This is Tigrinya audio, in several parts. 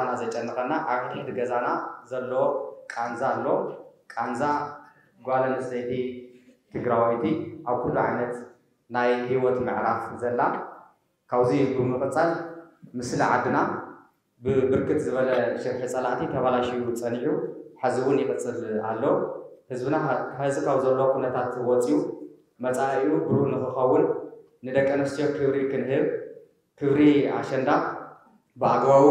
ገዛና ዘጨንቐና ኣብ ሕድሕድ ገዛና ዘሎ ቃንዛ ኣሎ። ቃንዛ ጓል ኣንስተይቲ ትግራወይቲ ኣብ ኩሉ ዓይነት ናይ ህይወት ምዕራፍ ዘላ። ካብዚ ብምቕፃል፣ ምስሊ ዓድና ብብርክት ዝበለ ሽርሒ ፀላእቲ ተባላሽዩ ፀኒሑ፣ ሕዚ እውን ይቕፅል ኣሎ። ህዝብና ሐዚ ካብ ዘሎ ኩነታት ወፂኡ መፃኢኡ ብሩህ ንክኸውን፣ ንደቂ ኣንስትዮ ክብሪ ክንህብ፣ ክብሪ ኣሸንዳ ብኣግባቡ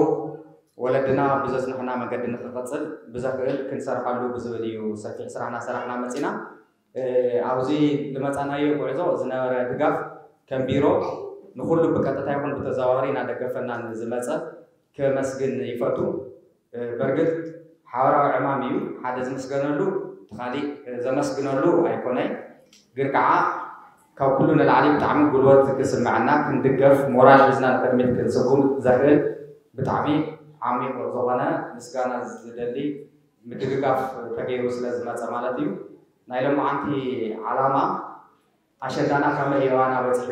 ወለድና ብዘፅንሑና መገዲ ንክቐፅል ብዘኽእል ክንሰርሐሉ ብዝብል እዩ ሰፊሕ ስራሕ እናሰራሕና መፂና። ኣብዚ ዝመፃናዮ ጉዕዞ ዝነበረ ድጋፍ ከም ቢሮ ንኩሉ ብቀጥታ ይኹን ብተዘዋዋሪ እናደገፈና ንዝመፀ ከመስግን ይፈቱ። በርግጥ ሓበራዊ ዕማም እዩ፣ ሓደ ዝምስገነሉ እቲ ካሊእ ዘመስግነሉ ኣይኮነይ። ግን ከዓ ካብ ኩሉ ንላዕሊ ብጣዕሚ ጉልበት ክስምዐና፣ ክንድገፍ፣ ሞራል ሒዝና ንቅድሚት ክንስጉም ዘኽእል ብጣዕሚ ዓሚቕ ዝኾነ ምስጋና ዝደሊ ምድግጋፍ ተገይሩ ስለ ዝመፀ ማለት እዩ። ናይ ሎማዓንቲ ዓላማ ኣሸንዳና ከመይ የዋና በፂሑ?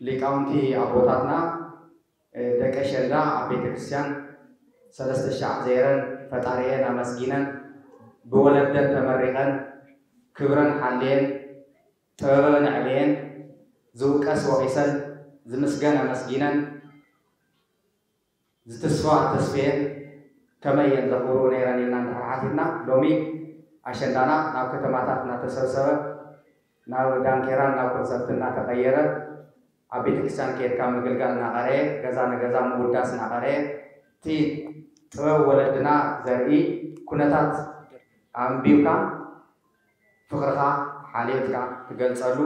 ሊቃውንቲ ኣቦታትና ደቂ ኣሸንዳ ኣብ ቤተ ክርስቲያን ሰለስተ ሻዕ ዘይረን ፈጣሪኤን ኣመስጊነን፣ ብወለደን ተመሪቐን፣ ክብረን ሓልየን፣ ጥበበን ኣዕብየን፣ ዝውቀስ ወቒሰን፣ ዝምስገን ኣመስጊነን፣ ዝትስፋ ተስፍየን ከመይ እየን ዘኽብሩ ነይረን ኢልና እንድሕር ሓቲትና፣ ሎሚ ኣሸንዳና ናብ ከተማታት እናተሰብሰበ፣ ናብ ዳንኬራን ናብ ኮንሰርትን እናተቐየረ፣ ኣብ ቤተክርስትያን ከይድካ ምግልጋል እናቐረየ፣ ገዛ ንገዛ ምውዳስ እናቐረየ፣ እቲ ጥበብ ወለድና ዘርኢ ኩነታት ኣንቢብካ፣ ፍቕርኻ ሓልዮትካ ትገልጸሉ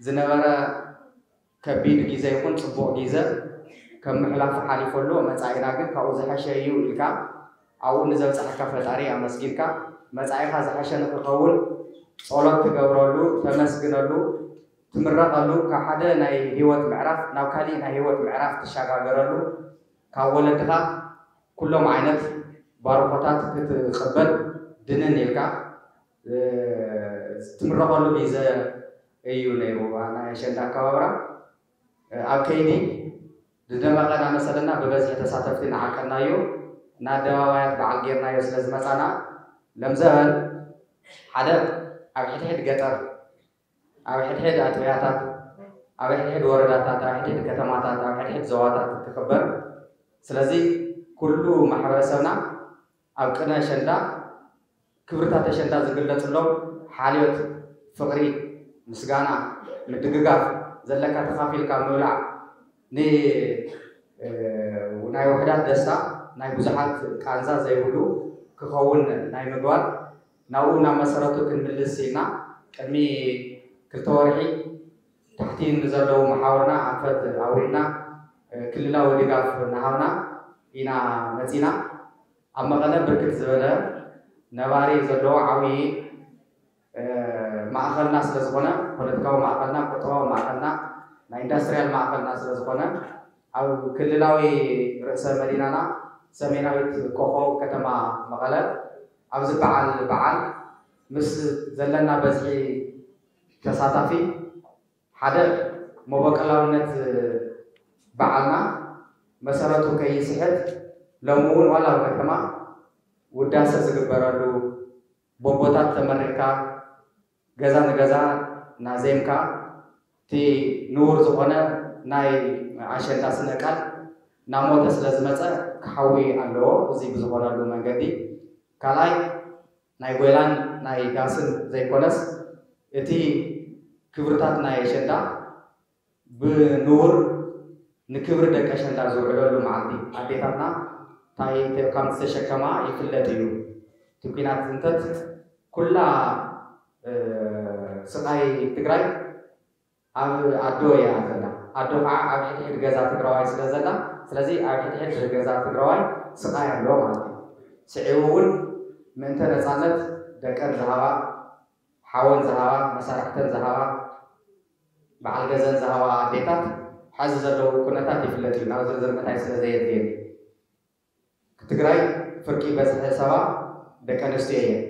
ዝነበረ ከቢድ ግዜ ይኹን ጽቡቕ ግዜ ከም ምሕላፉ ሓሊፉ ኣሎ። መጻኢና ግን ካብኡ ዝሐሸ እዩ ኢልካ ኣብኡ ንዘብጽሐካ ፈጣሪ ኣመስጊንካ፣ መጻኢኻ ዝሐሸ ንክኸውን ጸሎት ትገብረሉ፣ ተመስግነሉ፣ ትምረቐሉ፣ ካብ ሓደ ናይ ህይወት ምዕራፍ ናብ ካሊእ ናይ ህይወት ምዕራፍ ትሸጋገረሉ፣ ካብ ወለድኻ ኩሎም ዓይነት ባርኾታት ክትቕበል ድንን ኢልካ ትምረቐሉ ግዜ እዩ ነይሩ። ናይ ኣሸንዳ ኣከባብራ ኣብ ከይዲ ዝደመቐ እናመሰለና ብበዝሒ ተሳተፍቲ እናዓቀናዮ፣ ንኣደባባያት በዓል ጌርናዮ ስለ ዝመፃና፣ ለምዘበን ሓደ ኣብ ሕድሕድ ገጠር፣ ኣብ ሕድሕድ ኣጥቢያታት፣ ኣብ ሕድሕድ ወረዳታት፣ ኣብ ሕድሕድ ከተማታት፣ ኣብ ሕድሕድ ዞባታት ክኽበር። ስለዚ ኩሉ ማሕበረሰብና ኣብ ቅነ ኣሸንዳ ክብርታት ኣሸንዳ ዝግለፅሎም ሓልዮት፣ ፍቕሪ፣ ምስጋና፣ ምድግጋፍ፣ ዘለካ ተኻፊልካ ምብላዕ፣ ን ናይ ውሑዳት ደስታ ናይ ብዙሓት ቃንዛ ዘይብሉ ክኸውን ናይ ምግባር፣ ናብኡ ናብ መሰረቱ ክንምልስ ኢልና ቅድሚ ክልተ ወርሒ ታሕቲ ንዘለዉ መሓውርና ኣንፈት ኣውሪድና ክልላዊ ድጋፍ እናሃብና ኢና መፂና። ኣብ መቐለ ብርክት ዝበለ ነባሪ ዘለዎ ዓብዪ ማእኸልና ስለ ዝኾነ፣ ፖለቲካዊ ማእኸልና፣ ቁጠባዊ ማእኸልና፣ ናይ ኢንዳስትሪያል ማእኸልና ስለ ዝኾነ፣ ኣብ ክልላዊ ርእሰ መዲናና ሰሜናዊት ኮኾብ ከተማ መቐለ ኣብዚ በዓል በዓል ምስ ዘለና በዝሒ ተሳታፊ ሓደ መበቆላውነት በዓልና መሰረቱ ከይስሕት ሎሚ እውን ዋላ ኣብ ከተማ ውዳሰ ዝግበረሉ ቦቦታት ተመሪቕካ ገዛ ንገዛ እናዜምካ እቲ ንቡር ዝኾነ ናይ ኣሸንዳ ስነ ቃል እናሞተ ስለ ዝመፀ ክሓዊ ኣለዎ። እዚ ብዝኾነሉ መንገዲ ካልኣይ ናይ ጎይላን ናይ ዳስን ዘይኮነስ እቲ ክብርታት ናይ ኣሸንዳ ብንቡር ንክብሪ ደቂ ኣሸንዳ ዝውዕለሉ መዓልቲ ኣዴታትና እንታይ ከም ዝተሸከማ ይፍለጥ እዩ። እቲ ኲናት ዝንተት ኩላ ስቓይ ትግራይ ኣብ ኣዶ እያ ዘላ። ኣዶ ከዓ ኣብ ሕድሕድ ገዛ ትግራዋይ ስለ ዘላ፣ ስለዚ ኣብ ሕድሕድ ገዛ ትግራዋይ ስቓይ ኣሎ ማለት እዩ። ስዒቡ እውን ምእንተ ነፃነት ደቀን ዝሃባ፣ ሓወን ዝሃባ፣ መሳርሕተን ዝሃባ፣ በዓል ገዘን ዝሃባ ኣዴታት ሕዚ ዘለዉ ኩነታት ይፍለጥ እዩ። ናብ ዝርዝር ምእታይ ስለ ዘየድልየኒ። ትግራይ ፍርቂ በዝሒ ሰባ ደቂ ኣንስትዮ እየን።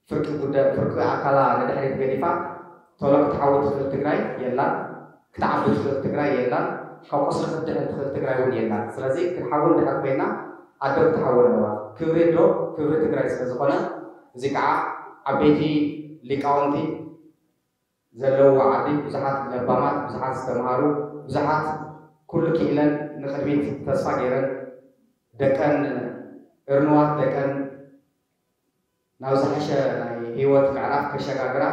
ፍርቂ ጉዳይ፣ ፍርቂ ኣካላ ንድሕሪት ገዲፋ ቶሎ ክትሓዊ ትኽእል ትግራይ የላን፣ ክትዓቢ ትኽእል ትግራይ የላን። ካብ ቁስሊ ክትድሕን ትኽእል ትግራይ እውን የላን። ስለዚ ክንሓዊ እንድሕር ኮይና ኣዶ ክትሓዊ ኣለዋ። ክብሪ ኣዶ ክብሪ ትግራይ ስለ ዝኾነ፣ እዚ ከዓ ዓበይቲ ሊቃውንቲ ዘለውዋ ዓዲ፣ ብዙሓት ለባማት፣ ብዙሓት ዝተምሃሩ፣ ብዙሓት ኩሉ ክኢለን ንቕድሚት ተስፋ ገይረን ደቀን እርንዋት ደቀን ናብ ዝሓሸ ናይ ህይወት ምዕራፍ ከሸጋግራ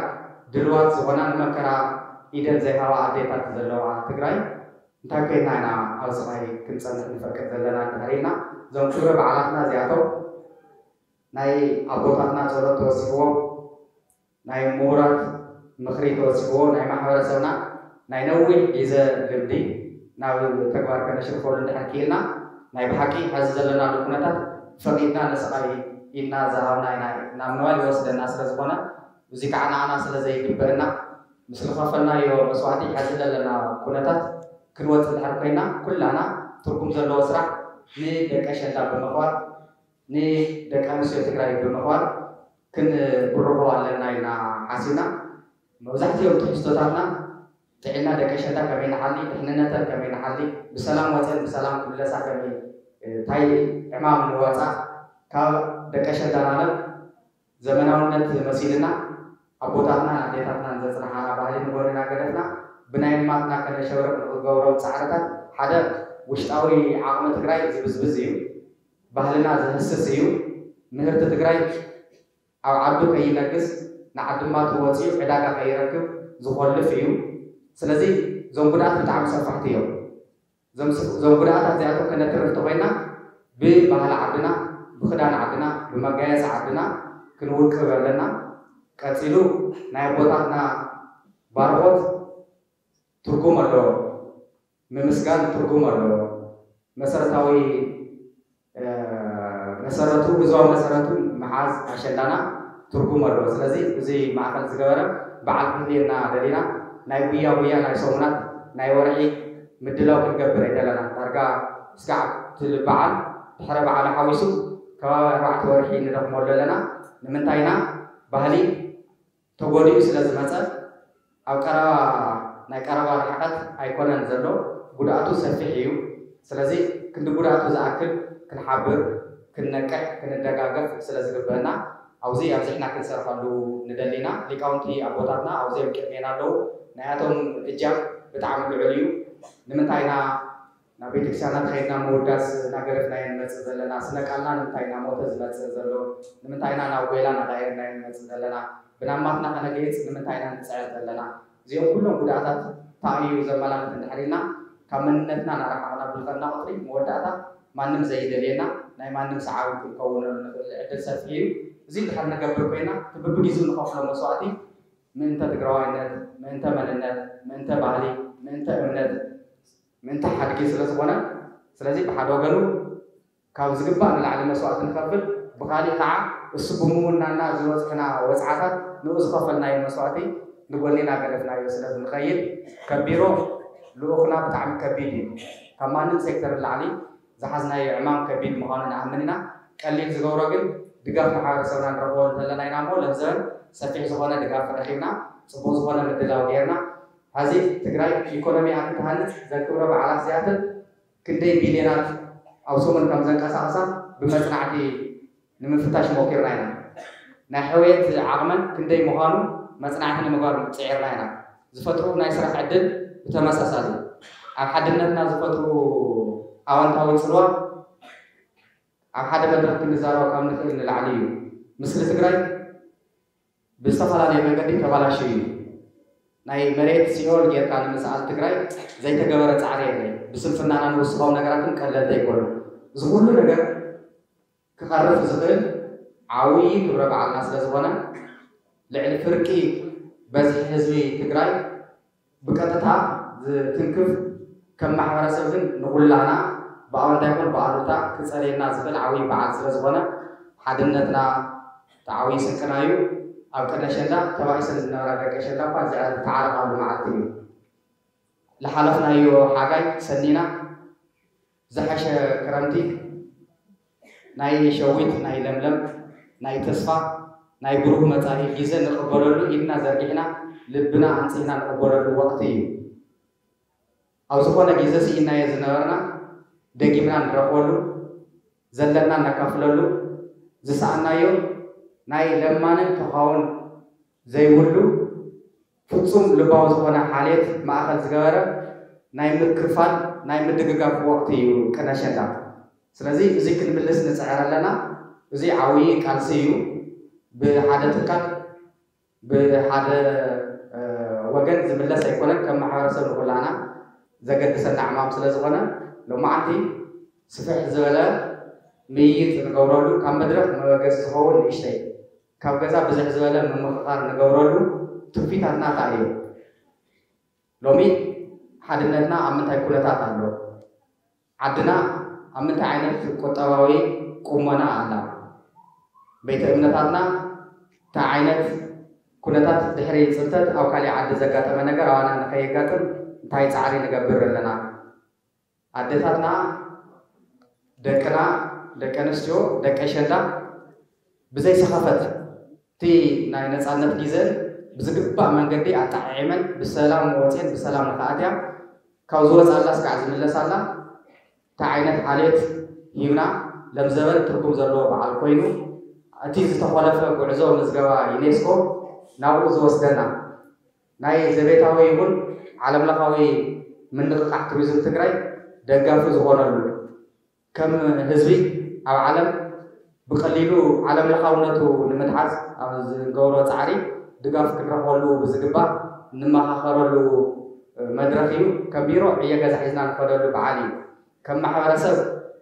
ድልዋት ዝኾና፣ ንመከራ ኢደን ዘይሃባ ኣዴታት ዘለዋ ትግራይ እንታይ ኮይና ኢና ኣብ ስቓይ ክንፀንሕ ንፈቅድ ዘለና? እንድሕር ኢልና እዞም ክብረ በዓላትና እዚኣቶም ናይ ኣቦታትና ጸሎት ተወሲኽዎም፣ ናይ ምሁራት ምኽሪ ተወሲኽዎ፣ ናይ ማሕበረሰብና ናይ ነዊሕ ግዜ ልምዲ ናብ ተግባር ከነሽርፈሉ እንድሕር ክኢልና፣ ናይ ብሓቂ ሐዚ ዘለናሉ ኩነታት ፈቒድና ንስቓይ ኢድና ዝሃብና ኢና፣ ናብ ንዋይ ይወስደና ስለ ዝኾነ፣ እዚ ከዓ ንዓና ስለ ዘይግበአና፣ ምስ ዝኸፈልናዮ መስዋእቲ ሐዚ ዘለና ኩነታት ክንወፅእ እንድሕር ኮይና፣ ኩላና ትርጉም ዘለዎ ስራሕ ንደቂ ኣሸንዳ ብምኽባር፣ ንደቂ ኣንስትዮ ትግራይ ብምኽባር ክንብርኾ ኣለና ኢልና ሓሲብና። መብዛሕትኦም ትሕዝቶታትና ጥዕና ደቂ ኣሸንዳ ከመይ ንሓሊ፣ ድሕንነተን ከመይ ንሓሊ፣ ብሰላም ወፅን ብሰላም ክምለሳ ከመይ፣ እንታይ ዕማም ንዋፃ፣ ካብ ደቂ ኣሸንዳ ናለም ዘመናውነት መሲልና ኣቦታትናን ኣዴታትናን ዘፅንሓና ባህሊ ንጎንና ገደፍና ብናይ ንማትና ከነሸብርቕ ንገብሮም ፃዕርታት ሓደ ውሽጣዊ ዓቕሚ ትግራይ ዝብዝብዝ እዩ። ባህልና ዝህስስ እዩ። ምህርቲ ትግራይ ኣብ ዓዱ ከይነግስ ንዓድማቱ ወፂኡ ዕዳጋ ከይረክብ ዝኾልፍ እዩ። ስለዚ እዞም ጉድኣት ብጣዕሚ ሰፋሕቲ እዮም። እዞም ስ- እዞም ጉድኣታት እዚኣቶም ከነትርፍ እንተኮይና ብባህሊ ዓድና፣ ብክዳን ዓድና፣ ብመጋየፂ ዓድና ክንውቅብ ኣለና። ቀፂሉ ናይ ኣቦታትና ባርኾት ትርጉም ኣለዎ። ምምስጋን ትርጉም ኣለዎ። መሰረታዊ መሰረቱ፣ ግዝባዊ መሰረቱ ምሓዝ ኣሸንዳና ትርጉም ኣለዎ። ስለዚ እዚ ማእኸል ዝገበረ በዓል ክህልየና ደሊና ናይ ጉያ ጉያ ናይ ሰሙናት ናይ ወርሒ ምድላው ክንገብር ኣይደለና። ዳርጋ ስጋዕ ትብል በዓል ድሕረ በዓል ሓዊሱ ከባቢ ኣርባዕተ ወርሒ ንደኽመሉ ኣለና። ንምንታይና ባህሊ ተጎዲኡ ስለ ዝመፀ ኣብ ቀረባ ናይ ቀረባ ርሕቀት ኣይኮነን ዘሎ፣ ጉድኣቱ ሰፊሕ እዩ። ስለዚ ክንዲ ጉድኣቱ ዝኣክል ክንሓብር፣ ክንነቅሕ፣ ክንደጋገፍ ስለ ዝግበአና ኣብዚ ኣብዚሕና ክንሰርሐሉ ንደሊና። ሊቃውንቲ ኣቦታትና ኣብዚኦም ቅድሜና ኣለዉ። ናያቶም እጃም ብጣዕሚ ልዑል እዩ። ንምንታይ ኢና ናብ ቤተክርስትያናት ከይድና ምውዳስ እናገደፍናዮ ንመፅእ ዘለና? ስነ ቃልና ንምንታይ ኢና ሞተ ዝመፅእ ዘሎ? ንምንታይ ኢና ናብ ጎይላ እናቀየርናዮ ንመፅእ ዘለና? ብናማትና ከነገይፅ ንምንታይ ኢና ንፅዕር ዘለና? እዚኦም ኩሎም ጉድኣታት እንታይ እዩ ዘመላኽት እንድሕር ኢልና ካብ መንነትና እናረሓቕና ብልጠና ቁፅሪ መወዳእታ ማንም ዘይደልየና ናይ ማንም ሰዓቢ ክንከውነሉ ንኽእል ዕድል ሰፊሕ እዩ። እዚ እንድሕር ንገብር ኮይና እቲ ብብጊዜኡ ንኸፍሎ መስዋእቲ ምእንተ ትግራዋይነት፣ ምእንተ መንነት፣ ምእንተ ባህሊ፣ ምእንተ እምነት፣ ምእንተ ሓድጊ ስለ ዝኾነ፣ ስለዚ ብሓደ ወገኑ ካብ ዝግባእ ንላዕሊ መስዋእቲ ንኸፍል፣ ብኻሊእ ከዓ እሱ ብምውናና ዝበፅሑና ወፅዓታት ንኡ ዝኸፈልናዮ መስዋእቲ ንጎኒ እናገደፍናዮ ስለ ንኸይድ ከቢሮ ልኡኽና ብጣዕሚ ከቢድ እዩ። ካብ ማንም ሴክተር ንላዕሊ ዝሓዝናዮ ዕማም ከቢድ ምዃኑ ንኣምን ኢና። ቀሊል ዝገብሮ ግን ድጋፍ ማሕበረሰብና ንረኽቦ እንተለና ኢና እሞ ለምዘበን ሰፊሕ ዝኾነ ድጋፍ ረኺብና፣ ፅቡቕ ዝኾነ ምድላው ገይርና። ሐዚ ትግራይ ኢኮኖሚኣ ክትሃንፅ ዘክብረ በዓላት እዚኣትን ክንደይ ቢልዮናት ኣብ ሰሙን ከም ዘንቀሳቕሳ ብመፅናዕቲ ንምፍታሽ ሞኪርና ኢና። ናይ ሕውየት ዓቕመን ክንደይ ምዃኑ መፅናዕቲ ንምግባር ፅዒርና ኢና። ዝፈጥሩ ናይ ስራሕ ዕድል ብተመሳሳሊ ኣብ ሓድነትና ዝፈጥሩ ኣወንታዊ ፅልዋ ኣብ ሓደ መድረኽ ክንዛረቦ ካብ ንኽእል ንላዕሊ እዩ። ምስሊ ትግራይ ብዝተፈላለየ መንገዲ ተባላሽዩ እዩ። ናይ መሬት ሲኦል ጌርካ ንምስኣል ትግራይ ዘይተገበረ ፃዕሪ የለን። ብስንፍናና ንውስኻዊ ነገራትን ቀለልቲ ኣይኮኑን። እዚ ኩሉ ነገር ክቐርፍ ዝኽእል ዓብዪ ክብረ በዓልና ስለ ዝኾነ ልዕሊ ፍርቂ በዝሒ ህዝቢ ትግራይ ብቀጥታ ዝትንክፍ ከም ማሕበረሰብ ግን ንኹላና ብኣወንታ ይኹን ብኣሉታ ክፀልየና ዝኽእል ዓብዪ በዓል ስለ ዝኾነ ሓድነትና እቲ ዓብዪ ስንቅና እዩ። ኣብ ቅድሚ ኣሸንዳ ተባኢሰን ዝነበራ ደቂ ኣሸንዳ እኳ እዚኣ ዝተዓረቓሉ መዓልቲ እዩ። ዝሓለፍናዮ ሓጋይ ሰኒና ዝሓሸ ክረምቲ ናይ ሸዊት ናይ ለምለም ናይ ተስፋ ናይ ብሩህ መፃኢ ግዜ ንቕበለሉ ኢድና ዘርጊሕና ልብና ኣንፂህና ንቕበለሉ ወቕቲ እዩ። ኣብ ዝኾነ ግዜ ስኢናዮ ዝነበርና ደጊምና ንረኽበሉ፣ ዘለና ነካፍለሉ፣ ዝሰኣናዮ ናይ ለማንን ተኻውን ዘይብሉ ፍጹም ልባዊ ዝኾነ ሓልየት ማእኸል ዝገበረ ናይ ምክፋል፣ ናይ ምድግጋፍ ወቕቲ እዩ ቅነ ኣሸንዳ። ስለዚ እዚ ክንምልስ ንጽዕር ኣለና። እዚ ዓብዪ ቃልሲ እዩ። ብሓደ ትካል፣ ብሓደ ወገን ዝምለስ ኣይኮነን። ከም ማሕበረሰብ ንኩላና ዘገድሰና ዕማም ስለ ዝኾነ፣ ሎማዓንቲ ስፍሕ ዝበለ ምይይጥ ንገብረሉ፣ ካብ መድረኽ መበገሲ ዝኸውን ንእሽተይ፣ ካብ ገዛ ብዝሕ ዝበለ ምምኽኻር ንገብረሉ ትውፊታትና እንታይ እዩ? ሎሚ ሓድነትና ኣብ ምንታይ ኩነታት ኣሎ? ዓድና ኣብ ምንታይ ዓይነት ቁጠባዊ ቁመና ኣላ? ቤተ እምነታትና እንታይ ዓይነት ኩነታት፣ ድሕሪ ጽንተት ኣብ ካሊእ ዓዲ ዘጋጠመ ነገር ኣባና ንኸየጋጥም እንታይ ጻዕሪ ንገብር ኣለና? ኣዴታትና፣ ደቅና፣ ደቂ ኣንስትዮ፣ ደቂ ኣሸንዳ ብዘይ ሰኸፈት እቲ ናይ ነጻነት ግዘን ብዝግባእ መንገዲ ኣጣዓዒመን ብሰላም ወፅየን ብሰላም ንኽኣትያ፣ ካብ ዝወፃላ እስካዕ ዝምለሳላ እንታይ ዓይነት ሓልዮት ሂብና፣ ለምዘበን ትርጉም ዘለዎ በዓል ኮይኑ፣ እቲ ዝተኾለፈ ጉዕዞ ምዝገባ ዩኔስኮ ናብኡ ዝወስደና፣ ናይ ዘቤታዊ ይኹን ዓለምለኻዊ ምንቕቓሕ ቱሪዝም ትግራይ ደጋፊ ዝኾነሉ፣ ከም ህዝቢ ኣብ ዓለም ብቐሊሉ ዓለምለኻውነቱ ንምትሓዝ ኣብ ዝገብሮ ፃዕሪ ድጋፍ ክንረኽበሉ ብዝግባእ እንመኻኸረሉ መድረኽ እዩ። ከም ቢሮ ዕዮ ገዛ ሒዝና ንኸደሉ በዓል እዩ። ከም ማሕበረሰብ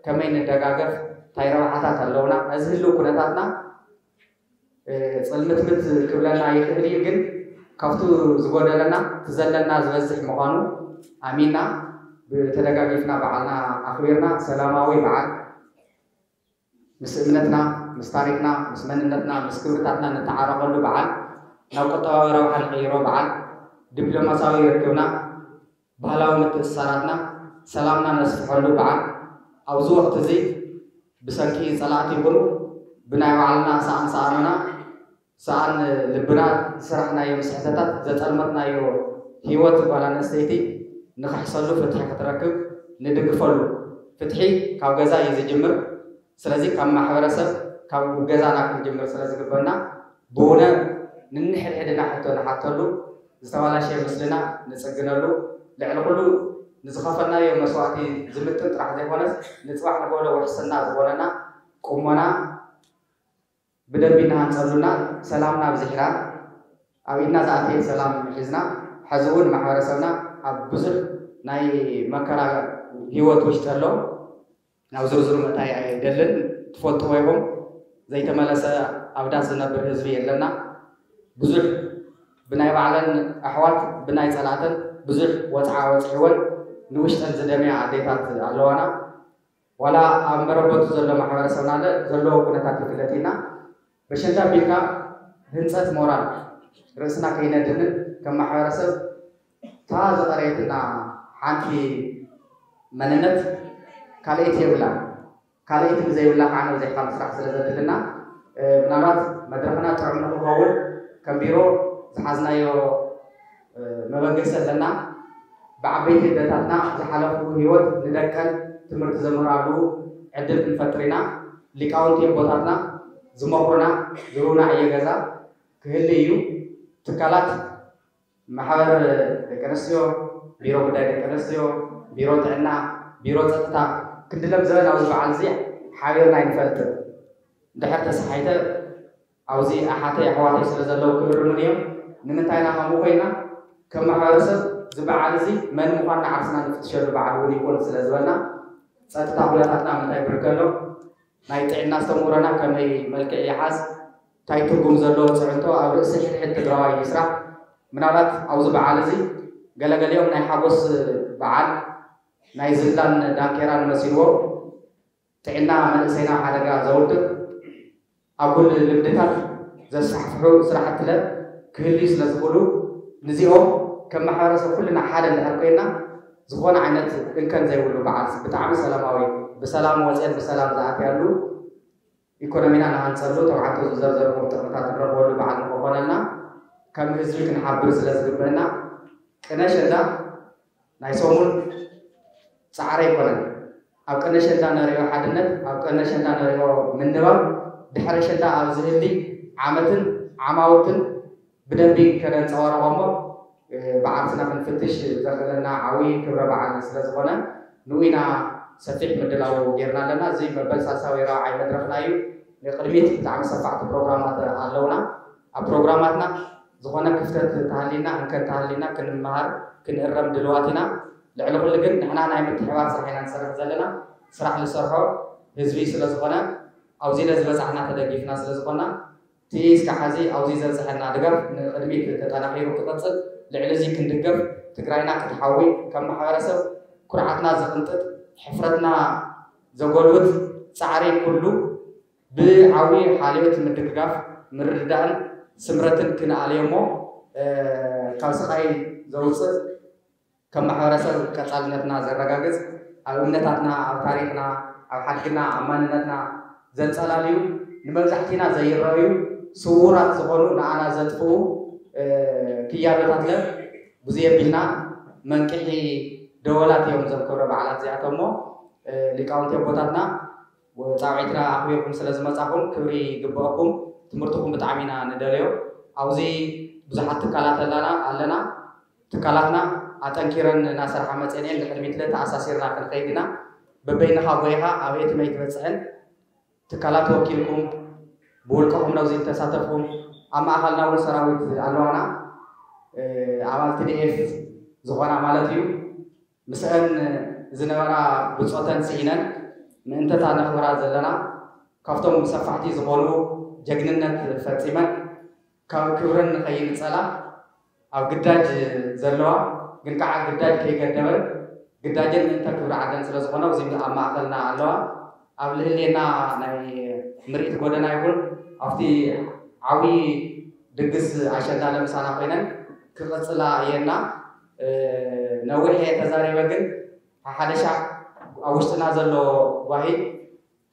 ከመይ ንደጋገፍ፣ እንታይ ረብሓታት ኣለውና፣ እዚ ህልው ኩነታትና ጽልምትምት ክብለና ይኽእል እዩ፣ ግን ካብቱ ዝጎደለና እቲ ዘለና ዝበዝሕ ምዃኑ ኣሚንና ብተደጋጊፍና በዓልና ኣኽቢርና ሰላማዊ በዓል ምስ እምነትና፣ ምስ ታሪኽና፣ ምስ መንነትና፣ ምስ ክብርታትና ንተዓረቐሉ በዓል፣ ናብ ቁጠባዊ ረብሓ ንቕይሮ በዓል፣ ዲፕሎማሲያዊ ርክብና፣ ባህላዊ ምትእስሳራትና፣ ሰላምና ነስፍሐሉ በዓል፣ ኣብዚ ወቕቲ እዚ ብሰንኪ ጸላእቲ ይኹኑ ብናይ ባዕልና ሰኣን ሰኣኖና፣ ሰኣን ልብና ዝሰራሕናዮም ስሕተታት፣ ዘጸልመትናዮ ህይወት ጓል ኣንስተይቲ ንኽሕሰሉ ፍትሒ ክትረክብ ንድግፈሉ። ፍትሒ ካብ ገዛ እዩ ዝጅምር። ስለዚ ካብ ማሕበረሰብ፣ ካብ ገዛና ክንጅምር ስለ ዝግበና፣ ብውነ ንንሕድሕድና ሕቶ ንሓተሉ፣ ዝተባላሸየ ምስልና ንጽግነሉ፣ ልዕሊ ኩሉ ንዝኸፈልናዮ መስዋእቲ ዝምጥን ጥራሕ ዘይኮነስ፣ ንጽባሕ ንጎሎ ውሕስና ዝኾነና ቁሞና ብደንቢ እናሃንጸሉና፣ ሰላምና ኣብዚሕና፣ ኣብ ኢድና ዝኣተየ ሰላም ሒዝና፣ ሕዚ እውን ማሕበረሰብና ኣብ ብዙሕ ናይ መከራ ህይወት ውሽጢ ኣሎ። ናብ ዝርዝሩ ምእታይ ኣይደልን። ትፈልጥዎ ኢኹም፣ ዘይተመለሰ ኣብ ዳስ ዝነብር ህዝቢ የለና። ብዙሕ ብናይ ባዕለን ኣሕዋት ብናይ ጸላእተን ብዙሕ ወጽዓ ወጽዕወን ንውሽጠን ዝደምያ ኣዴታት ኣለዋና። ዋላ ኣብ መረበቱ ዘሎ ማሕበረሰብና ለ ዘለዎ ኩነታት ይፍለጥ ኢና። በሸንዳ ቢልካ ህንጸት ሞራል ርእስና ከይነድንን ከም ማሕበረሰብ እታ ዝቐረየትና ሓንቲ መንነት ካልኣይቲ የብላን። ካልኣይቲ ብዘይብላ ከዓ ነብዚሕካ ምስራሕ ስለ ዘድልና፣ እ፣ ምናልባት መድረኽና ጥዑም ንክኸውን ከም ቢሮ ዝሓዝናዮ፣ እ፣ መበገሲ ኣለና። ብዓበይቲ ኣደታትና ዝሓለፉ ህይወት ንደቀን ትምህርቲ ዘምህራሉ ዕድል ክንፈጥር ኢና። ሊቃውንቲ ኣቦታትና ዝመኽሩና፣ ዝህቡና ዕዮ ገዛ ክህሉ እዩ። ትካላት ማሕበር ደቂ ኣንስትዮ፣ ቢሮ ጉዳይ ደቂ ኣንስትዮ፣ ቢሮ ጥዕና፣ ቢሮ ጸጥታ፣ ክንዲ ለምዘበን ኣብዚ በዓል እዚ ሓቢርና ኣይንፈልጥን። እንድሕር ተሰሓይተ ኣብዚ ኣሓተይ ኣሕዋተይ ስለ ዘለዉ ክእርሙኒ እዮም። ንምንታይ ኢና ከምኡ ኮይና? ከም ማሕበረሰብ እዚ በዓል እዚ መን ምዃንና ዓርስና ንፍትሸሉ በዓል እውን ይኹን ስለ ዝበልና፣ ጸጥታ ኩነታትና ምንታይ ብርክ ኣሎ፣ ናይ ጥዕና ኣስተምህሮና ከመይ መልክዕ ይሓዝ፣ እንታይ ትርጉም ዘለዎ ፅዕንቶ ኣብ ርእሲ ሕድሕድ ትግራዋይ ይስራሕ። ምናልባት ኣብዚ በዓል እዚ ገለገሊኦም ናይ ሓጎስ በዓል ናይ ዝላን ዳንኬራን መሲልዎ ጥዕና መንእሰይና ሓደጋ ዘውድቕ ኣጉል ልምድታት ዘስፋሕፍሑ ስራሕትለ ክህልዩ ስለ ዝኽእሉ፣ ንዚኦም ከም ማሕበረሰብ ኩልና ሓደ እንድሕር ኮይና፣ ዝኾነ ዓይነት እንከን ዘይብሉ በዓል ብጣዕሚ ሰላማዊ፣ ብሰላም ወፅየን ብሰላም ዝኣትያሉ፣ ኢኮኖሚና ንሃንፀሉ፣ ተባዕቶ ዝዘርዘርዎም ጥቕምታት ንረኽበሉ በዓል ንክኾነልና ከም ህዝቢ ክንሓብር ስለ ዝግበአና፣ ቅነ ሸንዳ ናይ ሰሙን ፃዕሪ ኣይኮነን። ኣብ ቅድሚ ኣሸንዳ ነሪኦ ሓድነት፣ ኣብ ቅድሚ ኣሸንዳ ነሪኦ ምንባብ፣ ድሕሪ ኣሸንዳ ኣብ ዝህሊ ዓመትን ዓማውትን ብደንቢ ከነንፀባርቖ እሞ፣ እ፣ ብዓርስና ክንፍትሽ ዘኽእለና ዓብዪ ክብረ በዓል ስለ ዝኾነ፣ ንኡ ኢና ሰፊሕ ምድላው ጌርና ኣለና። እዚ መበል ሳልሳዊ ራብዓይ መድረኽና እዩ። ንቕድሚት ብጣዕሚ ሰፋሕቲ ፕሮግራማት ኣለውና። ኣብ ፕሮግራማትና ዝኾነ ክፍተት ተሃሊና፣ እንከን ተሃሊና ክንመሃር፣ ክንእረም ድልዋት ኢና። ልዕሊ ኩሉ ግን ንሕና ናይ ምትሕባር ስራሕ ኢና ንሰርሕ ዘለና። ስራሕ ንሰርሖ ህዝቢ ስለ ዝኾነ፣ ኣብዚ ለዝበፃሕና ተደጊፍና ስለ ዝኾና፣ እቲ እስካብ ሕዚ ኣብዚ ዘብፅሐና ድጋፍ ንቕድሚት ተጠናኺሩ ክቕፅል፣ ልዕሊ እዚ ክንድገፍ፣ ትግራይና ክትሓዊ፣ ከም ማሕበረሰብ ኩርዓትና ዝቕንጥጥ፣ ሕፍረትና ዘጎልብት ፃዕሪ ኩሉ ብዓብዪ ሓልዮት ምድግጋፍ፣ ምርድዳእን ስምረትን ክንኣልዮ እሞ፣ እ፣ ካብ ስቓይ ዘውፅእ ከም ማሕበረሰብ ቀጻልነትና ዘረጋግጽ፣ ኣብ እምነታትና፣ ኣብ ታሪኽና፣ ኣብ ሓድግና፣ ኣብ ማንነትና ዘንጸላልዩ፣ ንመብዛሕቲና ዘይረኣዩ ስዉራት ዝኾኑ ንኣና ዘጥፍኡ፣ እ፣ ክያዶታት ለ ብዙይ ኣቢልና መንቅሒ ደወላት እዮም እዞም ክብረ በዓላት እዚኣቶም እሞ፣ እ፣ ሊቃውንቲ ኣቦታትና ጻውዒትና ኣኽቢርኩም ስለ ዝመጻኹም ክብሪ ይግበኣኩም። ትምህርትኹም ብጣዕሚ ኢና ንደልዮ። ኣብዚ ብዙሓት ትካላት ኣለና ኣለና። ትካላትና ኣጠንኪረን እናሰርሓ መፅአን እየን። ንቅድሚት ለ ተኣሳሲርና ክንኸይድ ኢና። በበይንኻ ጎይኻ ኣበየትመይ ትበፅሕን ትካላት ወኪልኩም ብውልቅኹም ነዚ ዝተሳተፍኩም ኣብ ማእኸልና እውን ሰራዊት ኣለዋና። እ፣ ኣባል ቲ ዲ ኤፍ ዝኾና ማለት እዩ። ምስአን ዝነበራ ብፆተን ስኢነን ምእንተታ ነኽብራ ዘለና ካብቶም ሰፋሕቲ ዝኾኑ ጀግንነት ፈፂመን ካብ ክብረን ንኸይንፀላ ኣብ ግዳጅ ዘለዋ ግን ከዓ ግዳጅ ከይገደበን ግዳጀን ምእንተ ክብሪ ዓደን ስለ ዝኾነ ኣብዚ ኣብ ማእኸልና ኣለዋ። ኣብ ልህሌና ናይ ምርኢት ጎደና ይኹን ኣብቲ ዓብዪ ድግስ ኣሸንዳ ለምሳና ኮይነን ክቕፅላ እየና። እ፣ ነዊሕ እየ ተዛሪበ፣ ግን ሓሓደሻ ኣብ ውሽጥና ዘሎ ጓሂ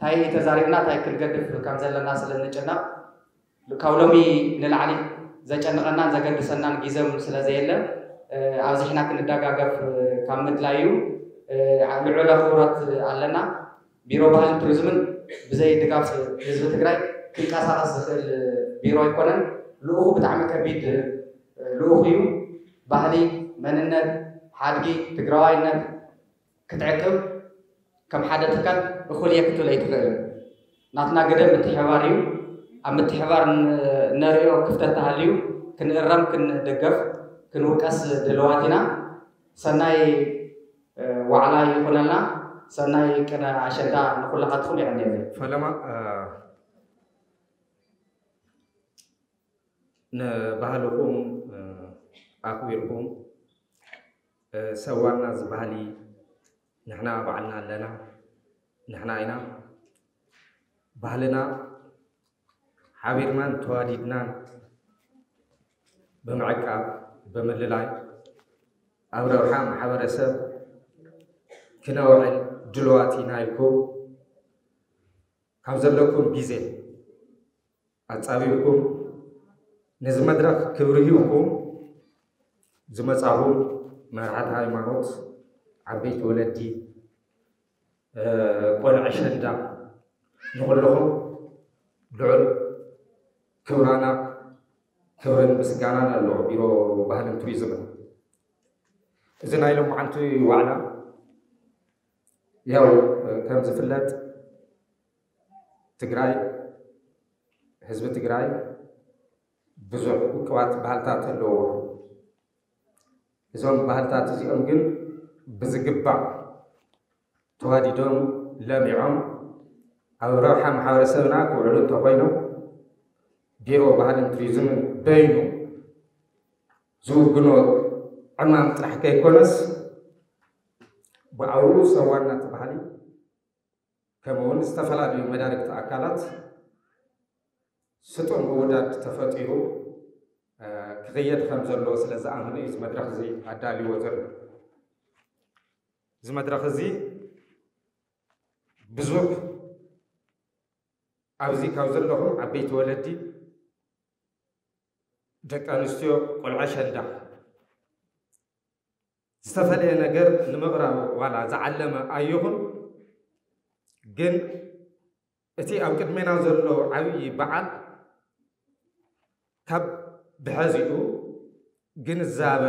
እንታይ ተዛሪብና እንታይ ክንገድፍ ከም ዘለና ስለ እንጭነቕ ካብ ሎሚ ንላዕሊ ዘጨንቐናን ዘገድሰናን ግዜም ስለ ዘየለ፣ እ፣ ኣብዚሕና ክንደጋገፍ ካብ ምድላይ እዩ። እ፣ ልዑል ኣኽብሮት ኣለና። ቢሮ ባህልን ቱሪዝምን ብዘይ ድጋፍ ህዝቢ ትግራይ ክንቀሳቐስ ዝኽእል ቢሮ ኣይኮነን። ልኡኹ ብጣዕሚ ከቢድ ልኡኽ እዩ። ባህሊ፣ መንነት፣ ሓድጊ፣ ትግራዋይነት ክትዕቅብ ከም ሓደ ትካል እኹል እየ ክትብል ኣይትኽእልን። ናትና ግደ ምትሕባር እዩ። ኣብ ምትሕባር ን-፣ ነርእዮ ክፍተት ተሃልዩ ክንእረም፣ ክንድገፍ፣ ክንውቀስ ድልዋት ኢና። ሰናይ፣ እ፣ ዋዕላ ይኹነልና። ሰናይ ቅነ ኣሸንዳ ንኹላኻትኩም። የቐንየለይ። ፈለማ፣ እ፣ ንባህልኹም፣ እ፣ ኣኽቢርኩም፣ እ፣ ሰዋና እዚ ባህሊ ንሕና ባዕልና ኣለና፣ ንሕና ኢና። ባህልና ሓቢርናን ተዋዲድናን ብምዕቃብ፣ ብምልላይ፣ ኣብ ረብሓ ማሕበረሰብ ክነውዕል ድልዋት ኢና ኢልኩም ካብ ዘለኩም ግዜ ኣጻቢብኩም ነዚ መድረኽ ክብሪ ሂብኩም ዝመጻኹም መራሕቲ ሃይማኖት፣ ዓበይቲ ወለዲ፣ እ፣ ቆልዑ ኣሸንዳ፣ ንኹልኹም ልዑል ክብራና፣ ክብርን ምስጋናን ኣለዎ ቢሮ ባህልን ቱሪዝምን። እዚ ናይ ሎማዓንቲ ዋዕላ ያው፣ እ፣ ከም ዝፍለጥ ትግራይ፣ ህዝቢ ትግራይ ብዙሕ ውቅባት ባህልታት ኣለዎ። እዞም ባህልታት እዚኦም ግን ብዝግባእ ተዋዲዶም ለሚዖም ኣብ ረብሓ ማሕበረሰብና ክውዕሉ እንተኾይኖም ቢሮ ባህልን ቱሪዝምን በይኑ ዝውግኖ ዕማም ጥራሕ ከይኮነስ ብኣውኡ ሰዋና እቲ ባህሊ ከምኡ እውን ዝተፈላለዩ መዳርግቲ ኣካላት ስጡም ምውዳድ ተፈጢሩ፣ እ፣ ክኽየድ ከም ዘለዎ ስለ ዝኣምን እዩ እዚ መድረኽ እዚ ኣዳልዎ ዘሎ። እዚ መድረኽ እዚ ብዙሕ ኣብዚ ካብ ዘለኹም ዓበይቲ ወለዲ፣ ደቂ ኣንስትዮ፣ ቆልዑ ኣሸንዳ ዝተፈለየ ነገር ንምቕራብ ዋላ ዝዓለመ ኣይኹን፣ ግን እቲ ኣብ ቅድሜና ዘሎ ዓብዪ በዓል ካብ ብሐዚኡ ግንዛበ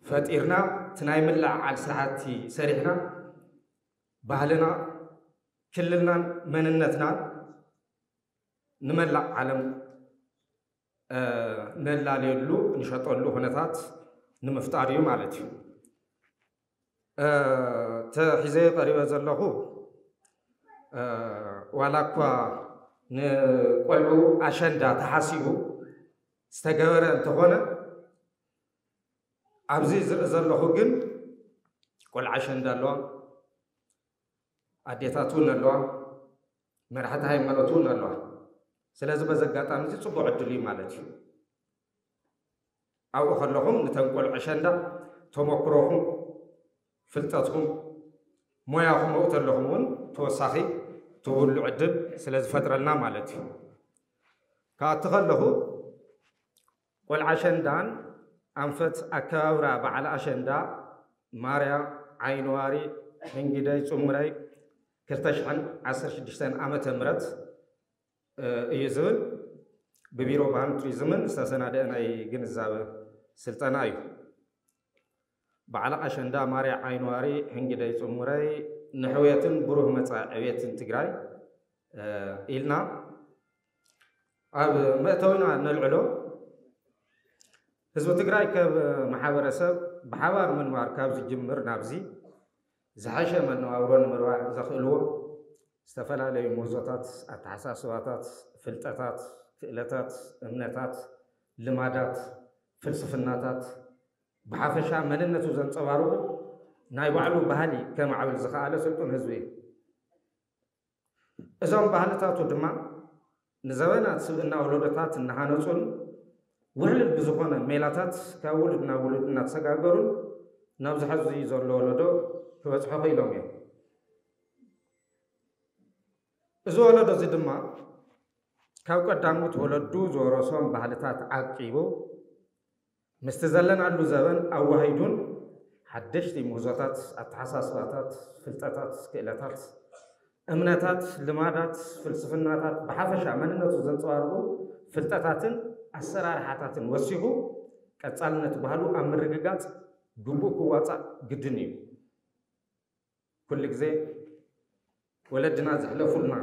ፈጢርና፣ እቲ ናይ ምልዕዓል ስራሕቲ ሰሪሕና፣ ባህልና፣ ክልልናን መንነትናን ንመላእ ዓለም ነላለየሉ፣ ንሸጠሉ ኩነታት ንምፍጣር እዩ ማለት እዩ። ተሒዘ ቀሪበ ዘለኹ፣ ዋላ እኳ ንቆልዑ ኣሸንዳ ተሓሲቡ ዝተገበረ እንተኾነ፣ ኣብዚ ዝርኢ ዘለኹ ግን ቆልዓ ኣሸንዳ ኣለዋ፣ ኣዴታት እውን ኣለዋ፣ መራሕቲ ሃይማኖት እውን ኣለዋ። ስለዚ በዚ ኣጋጣሚ እዚ ፅቡቕ ዕድል እዩ ማለት እዩ። ኣብኡ ከለኹም ንተን ቆልዑ ኣሸንዳ ተመክሮኹም፣ ፍልጠትኩም፣ ሞያኹም ኣብኡ ተለኹም እውን ተወሳኺ ትብሉ ዕድል ስለ ዝፈጥረልና ማለት እዩ። ካብቲ ከለኹ ቆልዓ ኣሸንዳን ኣንፈት ኣከባብራ በዓል ኣሸንዳ ማርያ ዓይንዋሪ ሕንጊደይ ጽሙረይ ክልተ ሽሕን ዓሰርተ ሽዱሽተን ዓመተ ምህረት እዩ ዝብል ብቢሮ ባህልን ቱሪዝምን ዝተሰናደአ ናይ ግንዛበ ስልጠና እዩ። በዓል ኣሸንዳ ማርያ ዓይንዋሪ ሕንጊደይ ጽሙረይ ንሕውየትን ብሩህ መጻኢ ዕብየትን ትግራይ ኢልና ኣብ መእተዊና ነልዕሎ። ህዝቢ ትግራይ ከም ማሕበረሰብ ብሓባር ምንባር ካብ ዝጅምር ናብዚ ዝሓሸ መነባብሮ ንምርባሕ ዘኽእልዎ ዝተፈላለዩ ምህዞታት፣ ኣተሓሳስባታት፣ ፍልጠታት፣ ክእለታት፣ እምነታት፣ ልማዳት፣ ፍልስፍናታት፣ ብሓፈሻ መንነቱ ዘንጸባርቑ ናይ ባዕሉ ባህሊ ከማዕብል ዝኸኣለ ስልጡን ህዝቢ እዩ። እዞም ባህልታቱ ድማ ንዘበናት ስብእና ወለዶታት እናሃነጹን ውሕሉል ብዝኾነ ሜላታት ካብ ውሉድ ናብ ውሉድ እናተሰጋገሩን ናብዚ ሐዚ ዘሎ ወለዶ ክበጽሑ ክኢሎም እዮም። እዚ ወለዶ እዚ ድማ ካብ ቀዳሞት ወለዱ ዝወረሶም ባህልታት ዓቂቡ ምስቲ ዘለናሉ ዘበን ኣዋሂዱን ሓደሽቲ ምህዞታት፣ ኣተሓሳስባታት፣ ፍልጠታት፣ ክእለታት፣ እምነታት፣ ልማዳት፣ ፍልስፍናታት፣ ብሓፈሻ መንነቱ ዘንጸባርቑ ፍልጠታትን ኣሰራርሓታትን ወሲኹ ቀጻልነት ባህሉ ኣብ ምርግጋጽ ግቡእ ክዋጻእ ግድን እዩ። ኩሉ ግዜ ወለድና ዘሕለፉልና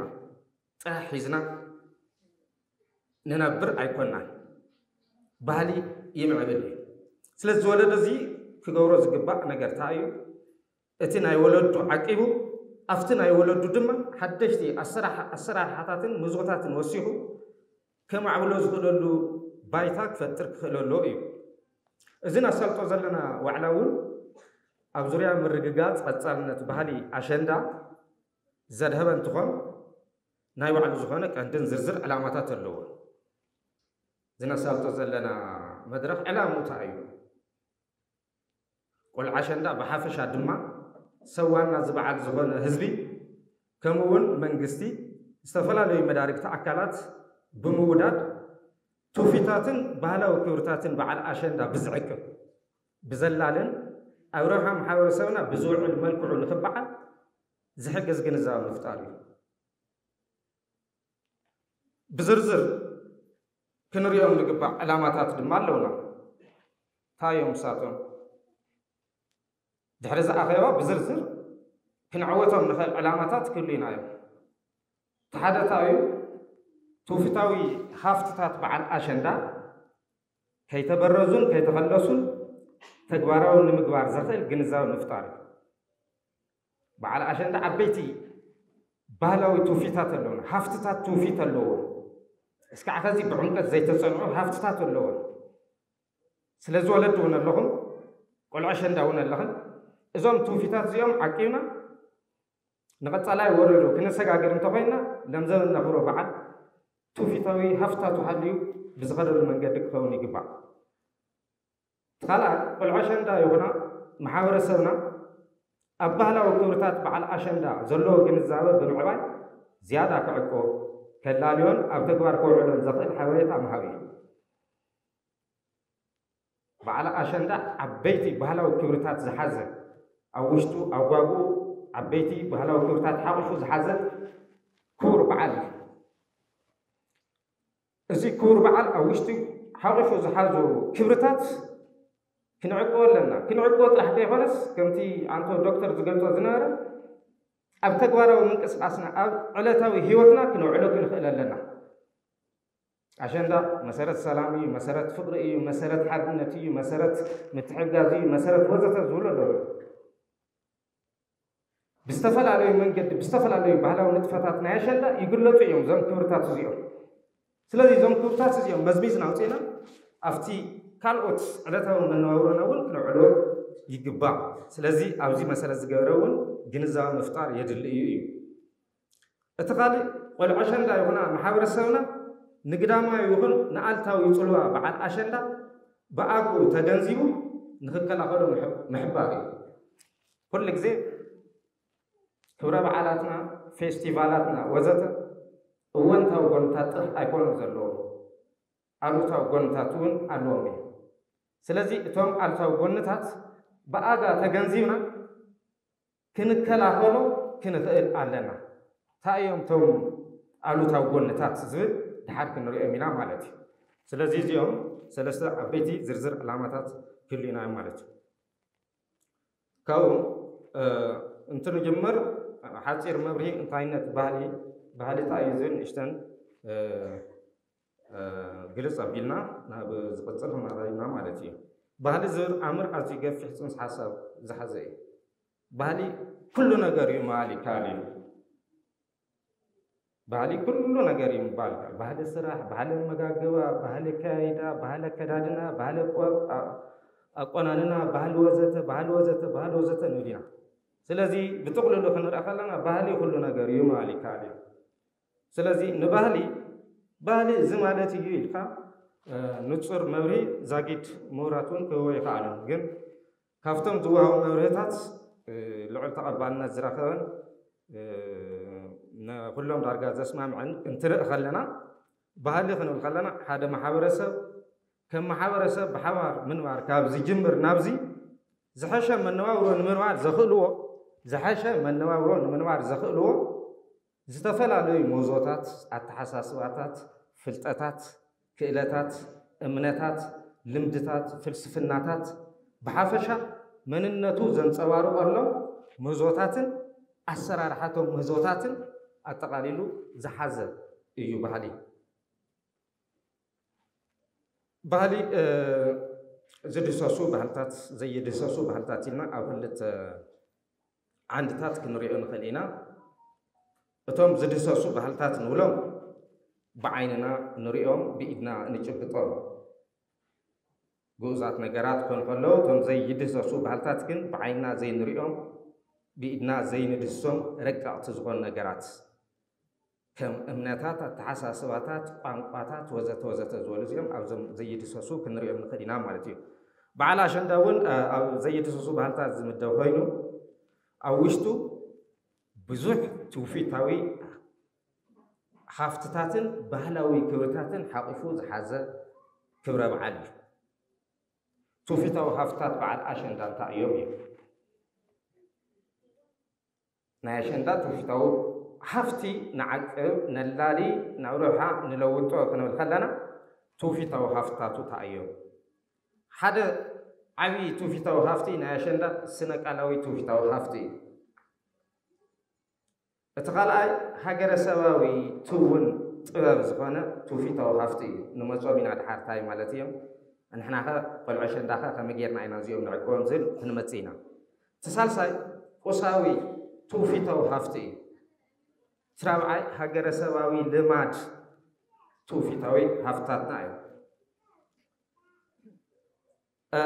ጥራሕ ሒዝና ንነብር ኣይኮናን። ባህሊ ይምዕብል እዩ። ስለዚ እዚ ወለዶ እዚ ክገብሮ ዝግባእ ነገር እንታይ እዩ? እቲ ናይ ወለዱ ዓቂቡ ኣብቲ ናይ ወለዱ ድማ ሓደሽቲ ኣሰራርሓታትን ምህዞታትን ወሲኹ ከማዕብሎ ዝኽእለሉ ባይታ ክፈጥር ክኽእለሉ እዩ። እዚ ነሳልጦ ዘለና ዋዕላ እውን ኣብ ዙርያ ምርግጋፅ ቀፃልነት ባህሊ ኣሸንዳ ዘድሀበ እንትኾን ናይ ባዕሉ ዝኾነ ቀንድን ዝርዝር ዕላማታት ኣለዎ። እዚ ነሳልጦ ዘለና መድረኽ ዕላምኡ እንታይ እዩ? ቆልዓ ኣሸንዳ ብሓፈሻ ድማ ሰብ ዋና እዚ በዓል ዝኾነ ህዝቢ ከምኡ እውን መንግስቲ ዝተፈላለዩ መዳርግቲ ኣካላት ብምውዳድ ትውፊታትን ባህላዊ ክብርታትን በዓል ኣሸንዳ ብዝዕቅብ ብዘላልን ኣብ ረብሓ ማሕበረሰብና ብዝውዕል መልክዑ ንኽበዓል ዝሕግዝ ግንዛበ ምፍጣር እዩ። ብዝርዝር ክንሪኦም ዝግባእ ዕላማታት ድማ ኣለውና። እንታይ እዮም ንሳቶም? ድሕሪ እዚ ኣኼባ ብዝርዝር ክንዕወቶም ንኽእል ዕላማታት ክህሉና እዮም። እቲ ሓደ እንታይ እዩ? ትውፊታዊ ሃፍትታት በዓል ኣሸንዳ ከይተበረዙን ከይተኸለሱን ተግባራዊ ንምግባር ዘኽእል ግንዛበ ምፍጣር እዩ። በዓል ኣሸንዳ ዓበይቲ ባህላዊ ትውፊታት ኣለዎም፣ ሃፍትታት ትውፊት ኣለዎም። እስካዕ ኸዚ ብዕምቀት ዘይተጸንዑ ሃፍትታት ኣለዎም። ስለዚ ወለዲ እውን ኣለኹም፣ ቆልዑ ኣሸንዳ እውን ኣለኽን። እዞም ትውፊታት እዚኦም ዓቂብና ንቐጻላይ ወለዶ ክነሰጋግር እንተኾይንና፣ ለምዘበን ነኽብሮ በዓል ትውፊታዊ ሃፍትታቱ ሃልዩ ብዝኸደሉ መንገዲ ክኸውን ይግባእ። እቲ ካልኣይ፣ ቆልዑ ኣሸንዳ ይኹና ማሕበረሰብና ኣብ ባህላዊ ክብርታት በዓል ኣሸንዳ ዘለዎ ግንዛበ ብምዕባይ ዝያዳ ክዕቅቦ፣ ከላልዮን ኣብ ተግባር ከውዕሎን ዘኽእል ሓበሬታ ምሃብ እዩ። በዓል ኣሸንዳ ዓበይቲ ባህላዊ ክብርታት ዝሓዘ፣ ኣብ ውሽጡ ኣጓጉ ዓበይቲ ባህላዊ ክብርታት ሓቑፉ ዝሓዘ ክቡር በዓል እዩ። እዚ ክቡር በዓል ኣብ ውሽጡ ሓቑፉ ዝሓዞ ክብርታት ክንዕቅቦ ኣለና። ክንዕቅቦ ጥራሕ ከይኮነስ፣ ከምቲ ኣንቶ ዶክተር ዝገልጾ ዝነበረ፣ ኣብ ተግባራዊ ምንቅስቃስና፣ ኣብ ዕለታዊ ህይወትና ክነውዕሎ ክንኽእል ኣለና። ኣሸንዳ መሰረት ሰላም እዩ፣ መሰረት ፍቕሪ እዩ፣ መሰረት ሓድነት እዩ፣ መሰረት ምትሕግጋዝ እዩ፣ መሰረት ወዘተ ዝብሉ ኣለዉ። ብዝተፈላለዩ መንገዲ፣ ብዝተፈላለዩ ባህላዊ ንጥፈታት ናይ ኣሸንዳ ይግለጹ እዮም እዞም ክብርታት እዚኦም። ስለዚ እዞም ክብርታት እዚኦም መዝሚዝና ኣውፂእና ኣብቲ ካልኦት ዕለታዊ መነባብሮና እውን ክነውዕሎ ይግባእ። ስለዚ ኣብዚ መሰረት ዝገበረ እውን ግንዛበ ምፍጣር የድሊ እዩ እዩ። እቲ ካልእ፣ ቆልዑ ኣሸንዳ ይኹና ማሕበረሰብና ንግዳማዊ ይኹን ንኣልታዊ ጽልዋ በዓል ኣሸንዳ ብኣግኡ ተገንዚቡ ንክከላኸሎ ምሕ-፣ ምሕባር እዩ። ኩሉ ግዜ ክብረ በዓላትና፣ ፌስቲቫላትና ወዘተ እወንታዊ ጎንታት ጥራሕ ኣይኮኑን ዘለዎም፣ ኣሉታዊ ጎንታት እውን ኣለዎም እዩ። ስለዚ እቶም ኣሉታዊ ጎንታት ብኣጋ ተገንዚብና ክንከላኸሎ ክንኽእል ኣለና። እንታይ እዮም እቶም ኣሉታዊ ጎንታት ዝብል ድሓር ክንሪኦም ኢና ማለት እዩ። ስለዚ እዚኦም ሰለስተ ዓበይቲ ዝርዝር ዕላማታት ክህልዩና እዮም ማለት እዩ። ካብኡ፣ እ፣ እንትንጅምር ሓፂር መብርሂ እንታይነት ባህሊ፣ ባህሊ እንታይ እዩ ዝብል ንእሽተን፣ እ፣ እ፣ ግልፅ ኣቢልና ናብ ዝቕፅል ክንመራ ኢና ማለት እዩ። ባህሊ ዝብል ኣምር ኣዝዩ ገፊሕ ፅንሰ ሓሳብ ዝሓዘ እዩ። ባህሊ ኩሉ ነገር እዩ ምባል ይከኣል እዩ። ባህሊ ኩሉ ነገር እዩ ምባል ይከኣል። ባህሊ ስራሕ፣ ባህሊ ኣመጋግባ፣ ባህሊ ኣከያይዳ፣ ባህሊ ኣከዳድና፣ ባህሊ ኣቆ-፣ ኣ-፣ ኣቆናንና፣ ባህሊ ወዘተ፣ ባህሊ ወዘተ፣ ባህሊ ወዘተ ንብል ኢና። ስለዚ ብጥቕልሉ ክንርኢ ከለና ባህሊ ኩሉ ነገር እዩ ምባል ይከኣል እዩ። ስለዚ ንባህሊ፣ ባህሊ እዚ ማለት እዩ ኢልካ፣ እ፣ ንጹር መብርሂ ዛጊድ ምሁራት እውን ክህቦ ይኸኣሉ። ግን ካብቶም ዝወሃቡ መብርህታት፣ እ፣ ልዑል ተቐባልነት ዝረኸበን፣ እ፣ ንኹሎም ዳርጋ ዘስማምዕን እንትርኢ ከለና፣ ባህሊ ክንብል ከለና ሓደ ማሕበረሰብ ከም ማሕበረሰብ ብሓባር ምንባር ካብ ዝጅምር ናብዚ ዝሐሸ መነባብሮ ንምንባር ዘኽእልዎ፣ ዝሐሸ መነባብሮ ንምንባር ዘኽእልዎ ዝተፈላለዩ ምህዞታት፣ ኣተሓሳስባታት፣ ፍልጠታት፣ ክእለታት፣ እምነታት፣ ልምድታት፣ ፍልስፍናታት፣ ብሓፈሻ መንነቱ ዘንጸባርቐሎም ምህዞታትን ኣሰራርሓቶም ምህዞታትን ኣጠቓሊሉ ዝሓዘ እዩ ባህሊ። ባህሊ፣ እ፣ ዝድህሰሱ ባህልታት፣ ዘይድህሰሱ ባህልታት ኢልና ኣብ ክልተ ዓንድታት ክንሪኦ ንኽእል ኢና። እቶም ዝድህሰሱ ባህልታት ንብሎም ብዓይንና ንሪኦም፣ ብኢድና ንጭብጦም ግኡዛት ነገራት ክኾኑ ከለዉ፣ እቶም ዘይድህሰሱ ባህልታት ግን ብዓይንና ዘይንሪኦም፣ ብኢድና ዘይንድህሶም ረቀቕቲ ዝኾኑ ነገራት፣ ከም እምነታት፣ ኣተሓሳስባታት፣ ቋንቋታት ወዘተ ወዘተ ዝበሉ እዚኦም ኣብዞም ዘይድህሰሱ ክንሪኦም ንኽእል ኢና ማለት እዩ። በዓል ኣሸንዳ እውን፣ እ፣ ኣብ ዘይድህሰሱ ባህልታት ዝምደብ ኮይኑ፣ ኣብ ውሽጡ ብዙሕ ትውፊታዊ ሃፍትታትን ባህላዊ ክብርታትን ሓቂፉ ዝሓዘ ክብረ በዓል እዩ። ትውፊታዊ ሃፍትታት በዓል ኣሸንዳ እንታይ እዮም እዮም? ናይ ኣሸንዳ ትውፊታዊ ሃፍቲ ንዓቅብ፣ ነላሊ፣ ናብ ረብሓ ንለውጦ ክንብል ከለና ትውፊታዊ ሃፍትታቱ እንታይ እዮም? ሓደ ዓብዪ ትውፊታዊ ሃፍቲ ናይ ኣሸንዳ ስነ ቃላዊ ትውፊታዊ ሃፍቲ እዩ። እቲ ካልኣይ ሃገረሰባዊ ትውን ጥበብ ዝኾነ ትውፊታዊ ሃፍቲ እዩ። ንመጾም ኢና ድሓር ታይ ማለት እዮም? ንሕናኸ ቆልዑ ኣሸንዳኸ ከመይ ጌርና ኢና እዚኦም ንዕቅቦም ዝብል ክንመጽእ ኢና። እቲ ሳልሳይ ቁሳዊ ትውፊታዊ ሃፍቲ እዩ። እቲ ራብዓይ ሃገረሰባዊ ልማድ ትውፊታዊ ሃፍትታትና እዩ። እ፣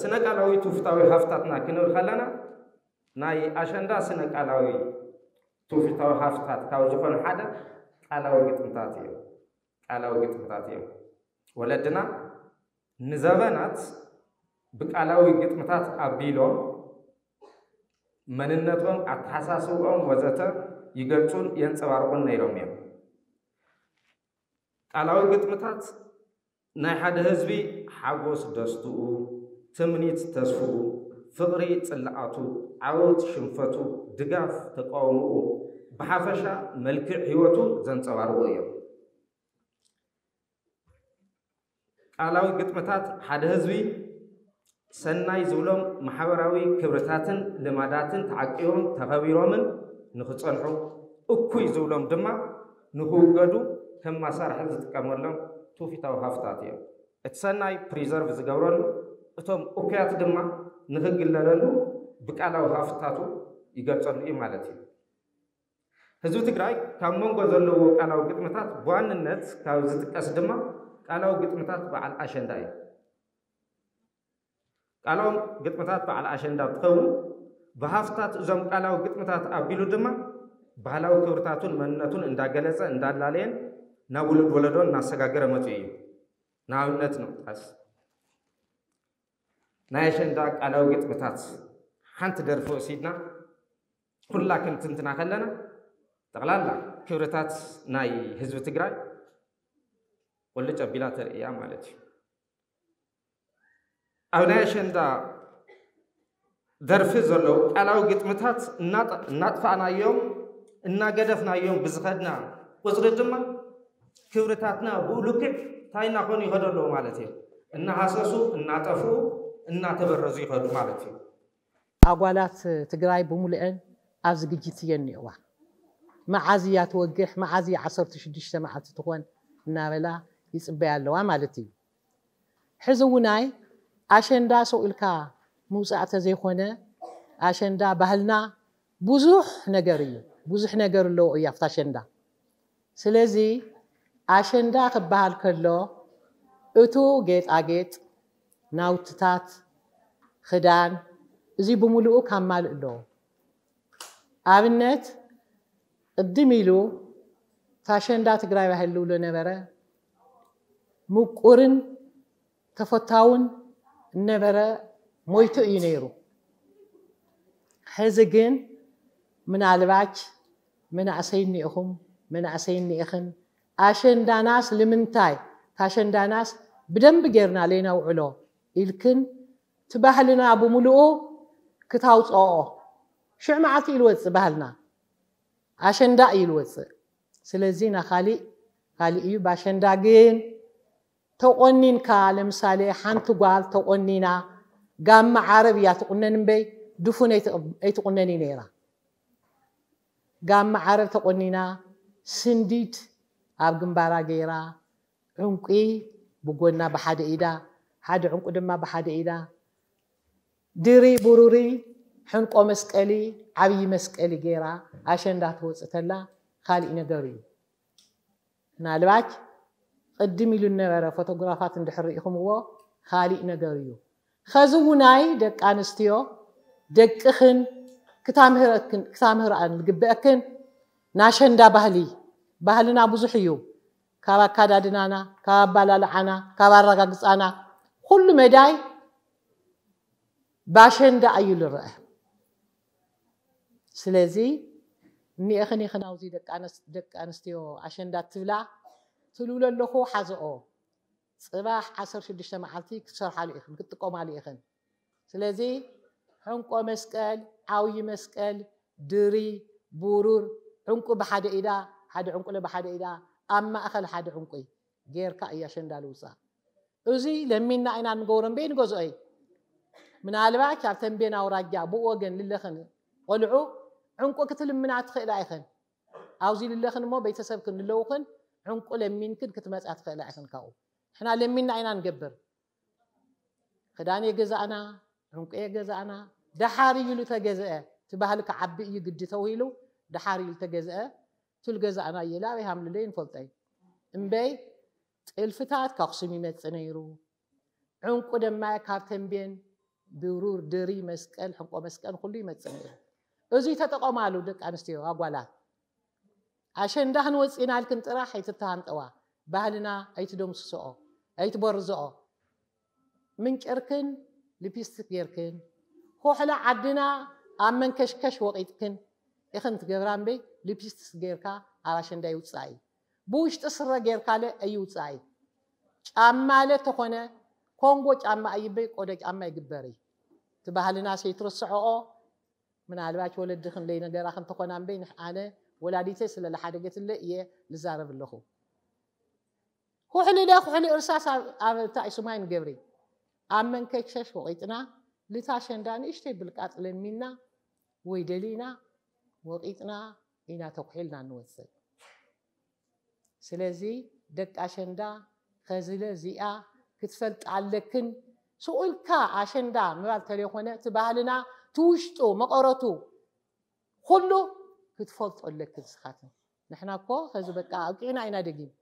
ስነ ቃላዊ ትውፊታዊ ሃፍትታትና ክንብል ከለና ናይ ኣሸንዳ ስነ ቃላዊ ትውፊታዊ ሃፍትታት ካብ ዝኾነ ሓደ ቃላዊ ግጥምታት እዮም። ቃላዊ ግጥምታት እዮም። ወለድና ንዘበናት ብቃላዊ ግጥምታት ኣቢሎም መንነቶም፣ ኣተሓሳስብኦም ወዘተ ይገልጹን የንጸባርቑን ነይሮም እዮም። ቃላዊ ግጥምታት ናይ ሓደ ህዝቢ ሓጎስ ደስትኡ፣ ትምኒት ተስፍኡ፣ ፍቕሪ ጽልኣቱ፣ ዓወት ሽንፈቱ፣ ድጋፍ ተቃውሞኡ፣ ብሓፈሻ መልክዕ ህይወቱ ዘንጸባርቑ እዮም። ቃላዊ ግጥምታት ሓደ ህዝቢ ሰናይ ዝብሎም ማሕበራዊ ክብርታትን ልማዳትን ተዓቂቦም ተኸቢሮምን ንኽጸንሑ፣ እኩይ ዝብሎም ድማ ንኽውገዱ ከም ማሳርሒ ዝጥቀመሎም ትውፊታዊ ሃፍታት እዮም። እቲ ሰናይ ፕሪዘርቭ ዝገብረሉ፣ እቶም እኩያት ድማ ንኽግለለሉ ብቃላዊ ሃፍታቱ ይገልጸሉ እዩ ማለት እዩ። ህዝቢ ትግራይ ካብ መንጎ ዘለዎ ቃላዊ ግጥምታት ብዋንነት ካብ ዝጥቀስ ድማ ቃላዊ ግጥምታት በዓል ኣሸንዳ እዩ። ቃላዊ ግጥምታት በዓል ኣሸንዳ እንትኸውን፣ ብሃፍታት እዞም ቃላዊ ግጥምታት ኣቢሉ ድማ ባህላዊ ክብርታቱን መንነቱን እንዳገለጸ እንዳላለየን ናብ ውሉድ ወለዶ እናሰጋገረ መፂኡ እዩ። ንኣብነት ንምጥቃስ፣ ናይ ኣሸንዳ ቃላዊ ግጥምታት ሓንቲ ደርፊ ወሲድና ኩላ ክንትንትና ከለና፣ ጠቕላላ ክብርታት ናይ ህዝቢ ትግራይ ቁልጭ ኣቢላ ተርእያ ማለት እዩ። ኣብ ናይ ኣሸንዳ ደርፊ ዘለዉ ቃላዊ ግጥምታት እናጠ- እናጥፋእናዮም እናገደፍናዮም ብዝኸድና ቁፅሪ ድማ ክብርታትና ብኡ ልክዕ እንታይ እናኾኑ ይኸዱ ኣለዉ ማለት እዩ። እናሃሰሱ እናጠፍኡ እናተበረዙ ይኸዱ ማለት እዩ። ኣጓላት ትግራይ ብምሉአን ኣብ ዝግጅት እየን እኒኦዋ። መዓዝ እያ ትወግሕ፣ መዓዝ እያ ዓሰርተ ሽዱሽተ መዓልቲ ትኾን እናበላ ይፅበያ ኣለዋ ማለት እዩ። ሕዚ እውናይ ኣሸንዳ ሰው ኢልካ ምውፃእ ተዘይኮነ ኣሸንዳ ባህልና ብዙሕ ነገር እዩ፣ ብዙሕ ነገር ኣለዎ እዩ ኣብቲ ኣሸንዳ። ስለዚ ኣሸንዳ ክበሃል ከሎ እቱ ጌጣጌጥ፣ ናውትታት፣ ክዳን፣ እዚ ብምሉኡ ካማልእ ኣለዎ። ኣብነት ቅድም ኢሉ እቲ ኣሸንዳ ትግራይ ባህል ዝብሎ ነበረ፣ ምቁርን ተፈታውን እነበረ ሞይቱ እዩ ነይሩ። ሕዚ ግን ምናልባች መናእሰይ እኒኢኹም መናእሰይ እኒኢኽን ኣሸንዳናስ ልምንታይ ታሸንዳናስ ብደንብ ጌርና ለይነውዕሎ ኢልክን እቲ ባህልና ብምልኡ ክታውፅኦ ሽዕ መዓልቲ እዩ ልወፅእ ባህልና ኣሸንዳ እዩ ልወፅእ። ስለዚ ና ካሊእ ካሊእ እዩ። ባሸንዳ ግን ተቆኒንካ ለምሳሌ ሓንቲ ጓል ተቆኒና ጋማ ዓረብ እያ ትቁነን እምበይ ድፉን ኣይትቁነን እዩ ነይራ። ጋማ ዓረብ ተቆኒና ስንዲድ ኣብ ግንባራ ገይራ ዕንቂ ብጎና ብሓደ ኢዳ ሓደ ዕንቁ ድማ ብሓደ ኢዳ ድሪ ቡሩሪ ሕንቆ መስቀሊ ዓብዪ መስቀሊ ገይራ ኣሸንዳ ትወፅእ ተላ ካሊእ ነገር እዩ። ምናልባች ቅድም ኢሉ ዝነበረ ፎቶግራፋት እንድሕር ርኢኹምዎ ካሊእ ነገር እዩ። ኸዚ ውናይ ደቂ ኣንስትዮ ደቅኽን ክታምህረክን ዝግበአክን ናሸንዳ ባህሊ ባህልና ብዙሕ እዩ። ካብ ኣካዳድናና ካብ ኣባላልዓና ካብ ኣረጋግፃና ኩሉ መዳይ ባሸንዳ እዩ ልረአ። ስለዚ እኒኤኽን ኢኽን ኣውዚ ደቂ ኣንስትዮ ኣሸንዳ ትብላ ትልብሎ ኣለኹ ሓዘኦ። ፅባሕ ዓሰርተ ሽዱሽተ መዓልቲ ክትሰርሓሉ ኢኽን ክትጥቀማሉ ኢኽን። ስለዚ ሕንቆ መስቀል ዓብዪ መስቀል ድሪ ቡሩር ዕንቁ ብሓደ ኢዳ ሓደ ዕንቁለ ብሓደ ኢዳ ኣብ ማእኸል ሓደ ዕንቁ ጌርካ እያ ኣሸንዳ ልውፃእ። እዚ ለሚንና ኢና ንገብሮ እምበይ ንገዝኦ እዩ። ምናልባች ኣብ ተንቤን ኣውራጃ ብኡ ወገን ልለኽን ቆልዑ ዕንቁ ክትልምና ትኽእላ ኢኽን። ኣብዚ ልለኽን እሞ ቤተሰብክን ልለውኽን ዕንቁ ለሚንክን ክትመፅያ ትኽእላ ኢኽን። ካብኡ ንሕና ለሚንና ኢና ንገብር። ክዳን የገዛእና ዕንቁ የገዛእና። ደሓር እዩ ልተገዝአ እቲ ባህሊ ክዓቢ እዩ ግዲ ተውሂሉ ደሓር እዩ ልተገዝአ። ቱል ገዛእና እየለ ኣበይ ሃምልለ ይንፈልጠይ እምበይ ጥልፍታት ካክሱም ይመጽእ ነይሩ። ዕንቁ ደማ ካብ ተንቤን ብሩር ድሪ መስቀል ሕንቆ መስቀል ኩሉ ይመጽእ ነይሩ። እዙይ ተጠቐማሉ ደቂ ኣንስትዮ ኣጓላት። ኣሸንዳ ክንወፅእ ኢና ኢልክን ጥራሕ ኣይትተሃንጠዋ። ባህልና ኣይትደምስስኦ ኣይትበርዝኦ። ምንጭርክን ሊፕስቲክ ጌርክን ኮሕላ ዓድና ኣብ መንከሽከሽ ወቒጥክን ኢኽን ትገብራ እምበይ ሊፕስቲክ ጌርካ ኣብ ኣሸንዳ ይውፃእ እዩ። ብውሽጢ ስረ ጌርካለ ኣይውፃእ እዩ። ጫማለ ተኾነ ኮንጎ ጫማ ኣይበይ ቆደ ጫማ ይግበሪ። እቲ ባህልና ሰይትርስዐኦ። ምናልባች ወለዲ ክንደይ ነገራ ክንተኾና እምበይ ንሕ-፣ ኣነ ወላዲተይ ስለ ለሓደገትለ እየ ልዛረብ ኣለኹ። ኩሕሊ ለ ኩሕሊ እርሳስ ኣብ፣ ኣብ እንታይ ስማይ ንገብሪ። ኣብ መንከሽከሽ ወቒጥና፣ ልታ ሸንዳ ንእሽተይ ብልቃጥ ለሚና ወይ ደሊና ወቒጥና ኢና ተኩሒልና ንወፅእ። ስለዚ ደቂ ኣሸንዳ ኸዝለ እዚኣ ክትፈልጣ ኣለክን። ስቑ ኢልካ ኣሸንዳ ምባል ተለይኮነ እቲ ባህልና ትውሽጡ መቐረቱ ኩሉ ክትፈልጦ ኣለክን ስኻትን። ንሕና እኮ ኸዚ በቃ ኣብቂዕና ኢና ደጊም።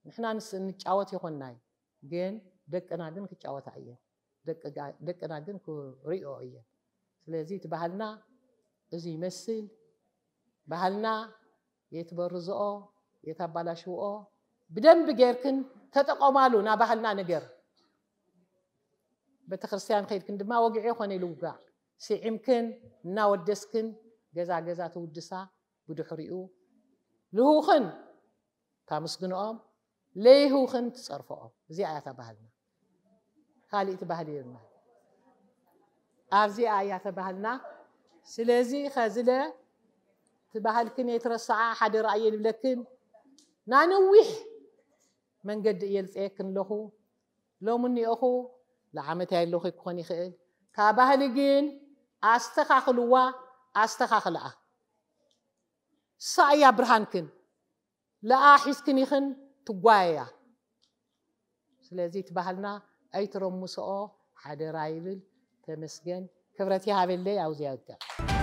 ንሕና ንስ-፣ ንጫወት ይኾንና እዩ፣ ግን ደቅና ግን ክጫወታ እየን። ደቂ ጋ-፣ ደቅና ግን ክሪኦ እየን። ስለዚ እቲ ባህልና እዚ ይመስል። ባህልና የትበርዝኦ፣ የታባላሽውኦ፣ ብደንብ ጌርክን ተጠቐማሉ ና ባህልና ነገር። ቤተክርስትያን ከይድክን ድማ ወግዒ ይኾነ ኢሉ ውጋዕ። ስዒምክን እናወደስክን ገዛ ገዛ ትውድሳ፣ ብድሕሪኡ ልህውኽን ታመስግንኦም፣ ለይህውኽን ትጸርፍኦም። እዚኣ እያ እታ ባህልና። ካሊእ እቲ ባህሊ የብልና። ኣብዚኣ እያ እታ ባህልና። ስለዚ ኸዝለ እቲ ባህልክን የትረስዓ፣ ሓደራ እየ ልብለክን። ናነዊሕ መንገዲ እየ ልፀየክን ኣለኹ። ሎም እኒኦኹ ለዓመት ያይለኹ ክኾን ይኽእል። ካብ ባህሊ ግን ኣስተኻኽልዋ፣ ኣስተኻኽልኣ። እሳ እያ ብርሃንክን። ለኣ ሒዝክን ኢኽን ትጓየያ። ስለዚ እቲ ባህልና ኣይትረምስኦ ሓደራ ይብል። ተመስገን። ክብረት ይሃበለይ። ኣብዚያ ይውዳእ።